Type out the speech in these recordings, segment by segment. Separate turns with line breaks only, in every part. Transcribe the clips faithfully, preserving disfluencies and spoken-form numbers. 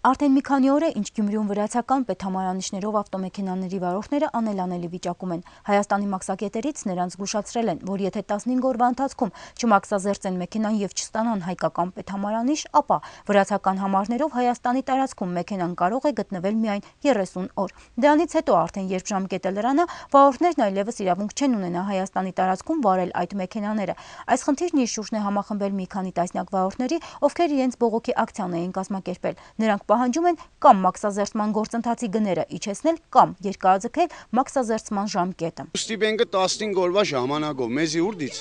Արդեն մի քանի օր է, ինչ Գյումրիում վրացական պետհամարանիշներով ավտոմեքենաների վարորդները անելանելի վիճակում են։ Հայաստանի մաքսակետերից նրանց զգուշացրել են, որ եթե տասնհինգ օրվա ընթացքում չմաքսազերծեն մեքենան եւ չստանան հայկական պետհամարանիշ, ապա վրացական համարներով Հայաստանի տարածքում մեքենան կարող է գտնվել միայն երեսուն օր։ Դրանից հետո արդեն երբ ժամկետը լրանա, վարորդներն այլևս իրավունք չեն ունենա Հայաստանի տարածքում վարել այդ մեքենաները։ Այս խնդիրն իր շուրջն է համախմբել մի քանի տասնյակ վարորդների, ովքեր իրենց բողոքի ակցիան էին կազմակերպել։ Նրանք պահանջում են կամ մաքսազերծման գործընթացի գները իջեցնել, կամ երկարաձգել մաքսազերծման ժամկետը։
Ստիպենքը տասնհինգ օրվա ժամանակով մեզի ուր դից։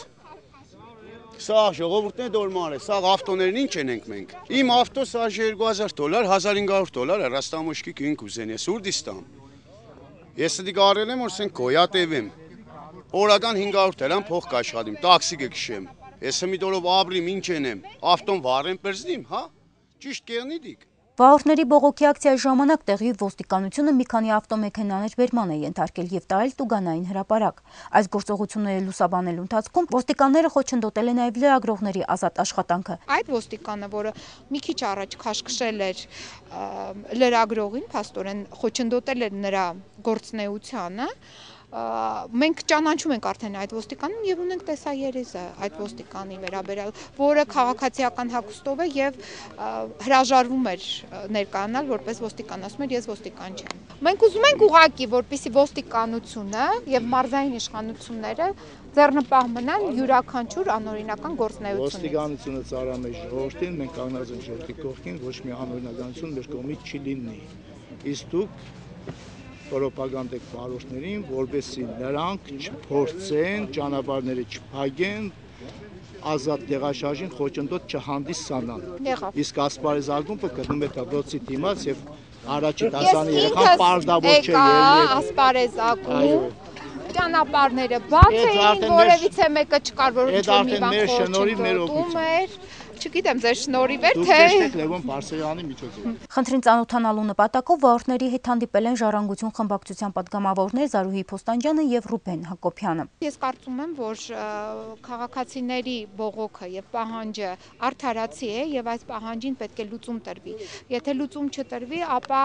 Սա ժողովուրդն է դոլմար է, սա ավտոներն ինչ ենք մենք։ Իմ ավտո սա երկու հազար դոլար, հազար հինգ հարյուր դոլար է, ռաստամոշկի կին կուզեն, ես ուր դից տամ։ Ես դի կարել եմ, որ սեն գոյատևեմ։ Օրական հինգ հարյուր դրամ փող կաշխատեմ, տաքսի կքշեմ։ Ես մի դորով ապրիմ, ինչ ենեմ, ավտոն վարեմ պրզնիմ, հա։ Ճիշտ կերնի դիք։
Վարորդների բողոքի ակցիայի ժամանակ տեղի ոստիկանությունը մի քանի ավտոմեքենաներ բերման է ենթարկել եւ տարել տուգանային հրապարակ։ Այս գործողությունները լուսաբանելու ընթացքում ոստիկանները խոչընդոտել են նաեւ լրագրողների ազատ աշխատանքը։
Այդ ոստիկանը, որը մի քիչ առաջ քաշքշել էր լրագրողին, փաստորեն խոչընդոտել էր նրա գործունեությանը, մենք ճանաչում ենք արդեն այդ ոստիկանին եւ ունենք տեսաերեզը այդ ոստիկանի վերաբերյալ, որը քաղաքացիական հագուստով է եւ հրաժարվում էր ներկայանալ որպես ոստիկան, ասում էր ես ոստիկան չեմ։ Մենք ուզում ենք ուղղակի, որպեսզի ոստիկանությունը եւ մարզային իշխանությունները ձեռնպահ մնան յուրաքանչյուր անօրինական գործունեությունից։
Ոստիկանությունը ծառայում է ժողովրդին, մենք կանգնած ենք ժողովրդի կողքին, ոչ մի անօրինականություն մեր կողմից չի լինի։ Իսկ դուք պրոպագանդեք վարորդներին, որպեսզի նրանք չփորձեն, ճանապարհները չփակեն, ազատ տեղաշարժին խոչընդոտ չհանդիսանան։ Իսկ ասպարեզ ակումբը գտնում է դպրոցի դիմաց եւ առաջի դասանի երեխան պարտավոր չէ ելնել
ասպարեզ ակումբ, ճանապարհները բաց էին, որևիցե մեկը չկար, որ ինչ-որ մի բան խոչընդոտում էր։ Չգիտեմ, ձեր շնորհիվ էր, թե
Լևոն Բարսեղյանի միջոցով։
Խնդրին ծանոթանալու նպատակով վարորդների հետ հանդիպել են Ժառանգություն խմբակցության պատգամավորներ Զարուհի Փոստանջյանը եւ Ռուբեն Հակոբյանը։
Ես կարծում եմ, որ քաղաքացիների բողոքը եւ պահանջը արդարացի է եւ այս պահանջին պետք է լուծում տրվի։ Եթե լուծում չտրվի, ապա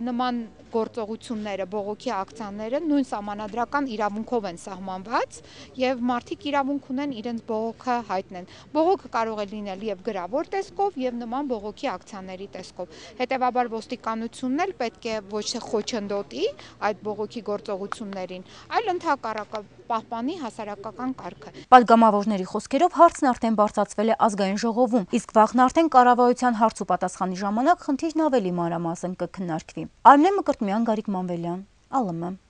նման գործողությունները, բողոքի ակցիաները նույն սահմանադրական իրավունքով են սահմանված եւ մարդիկ իրավունք ունեն իրենց բողոքը հայտնեն։ Բողոքը կարող է լինել եւ գրավոր տեսքով եւ նման բողոքի ակցիաների տեսքով։ Հետեւաբար ոստիկանությունն էլ պետք է ոչ թե խոչընդոտի այդ բողոքի գործողություններին, այլ ընդհակառակը պահպանի հասարակական կարգը։
Պատգամավորների խոսքերով հարցն արդեն բարձրացվել է ազգային ժողովում, իսկ վաղն արդեն կառավարության հարց ու պատասխանի ժամանակ խնդիրն ավելի մանրամասն կքննարկվի։ Արմեն Մկրտմյան, Գարիկ Մանվելյան, ԱԼՄ։